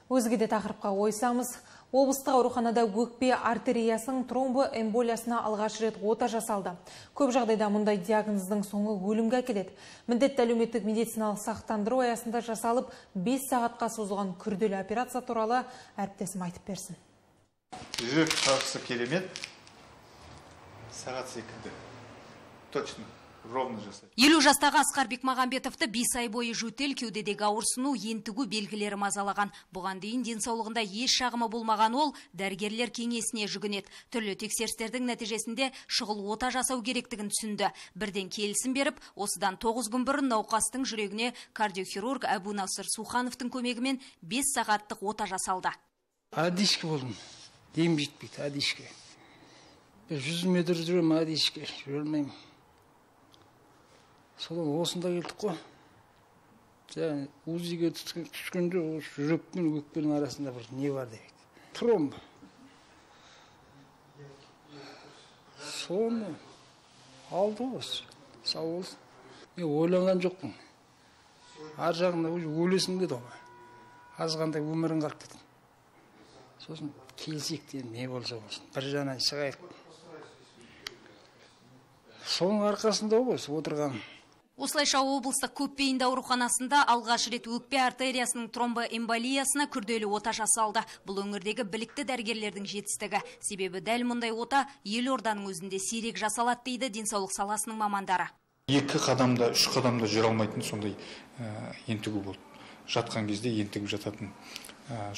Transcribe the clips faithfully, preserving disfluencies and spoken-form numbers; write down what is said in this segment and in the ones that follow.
Өзге де тақырыпқа ойсамыз, облыстық ауруханада өкпе артериясының тромбоэмболиясына алғаш рет ота жасалды. Көп жағдайда мұндай диагноздың соңы өлімге әкеледі. Міндетті әлеуметтік медициналық сақтандыру аясында жасалып, бес сағатқа созылған күрделі операция туралы әріптесім айтып берсін. Жүрек шаршысы керемет. Сағат секілді. Точно. елу жастағы Асқар Бекмағамбетовті бес ай бойы жөтел, кеудедегі ауырсыну, ентігу белгілері мазалаған. Бұған дейін денсаулығында еш шағымы болмаған ол дәрігерлер кеңесіне жүгінеді. Түрлі тексерістердің нәтижесінде шұғыл ота жасау керектігін түсінді. Бірден келісім беріп, осыдан тоғыз күн бұрын науқастың жүрегіне кардиохирург Әбу Насыр Сухановтың көмегімен бес сағаттық ота жасалды. Адишке болдым. Дем жетпейді, адишке. жүз метр жүрем, адишке жүрмеймін. Содан осында келдік қой. Және УЗИге түскенде жүрек пен өкпенің арасында бір не бар дейді. Тромб. Соны алды осы. Сау болсын. Мен ойланған жоқпын. Ар жағында өлесің деді ғой. Азғанда өмірің қалып деді. Сосын келсек те не болса болсын. Bir жанай шығайық. Соның арқасында осы отырған. Осылайша облыстық көпбейінді ауруханасында алғаш рет өкпе артериясының тромбоэмболиясына күрделі ота жасалды. Бұл өңірдегі білікті дәрігерлердің жетістігі. Себебі дәл мұндай ота елорданың өзінде сирек жасалады дейді денсаулық саласының мамандары. Екі қадамда, үш қадамда жүре алмайтын сондай ентігу болды. Жатқан кезде ентігіп жататын.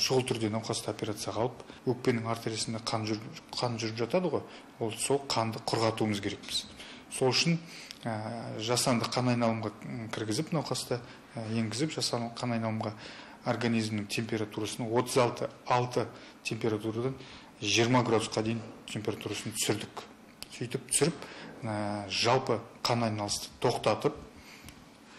Шұғыл түрде науқасты операцияға алып, өкпенің артериясында қан жүріп жатады ғой. Ол сол қанды құрғатуымыз керекпіз. Сол үшін жасанды қан айналымға кіргізіп, науқасты енгізіп, жасанды қан айналымға организмнің температурасын отыз алты температурадан жиырма градусқа дейін температурасын түсірдік. Сөйтіп түсіріп, жалпы қан айналысты тоқтатып,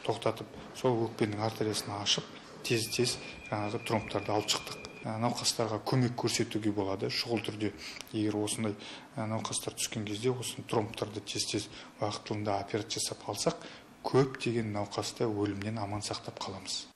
тоқтатып, сол өкпенің артериясын ашып, тез-тез тромбтарды алып шықтық. Науқастарға көмек көрсетуге болады. Шұғыл түрде, егер осындай науқастар түскен кезде, осы тромбтарды тез-тез уақытылында операция жасап алсақ, көптеген науқасты өлімнен аман сақтап қаламыз.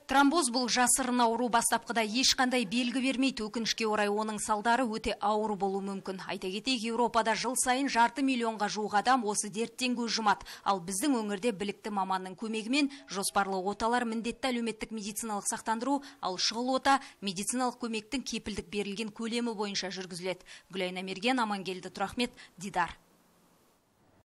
Тромбоз бұл жасырын ауру, бастапқыда ешқандай белгі бермейді. Өкінішке орай оның салдары өте ауыр болуы мүмкін. Айта кетейік, Еуропада жыл сайын жарты миллионға жуық адам осы дерттен көз жұмады. Ал біздің өңірде білікті маманның көмегімен жоспарлы оталар міндетті әлеуметтік медициналық сақтандыру, ал шұғыл ота медициналық көмектің кепілдік берілген көлемі бойынша жүргізіледі. Гүлайна Мерген, Амангелді Тұрахмет, Дидар.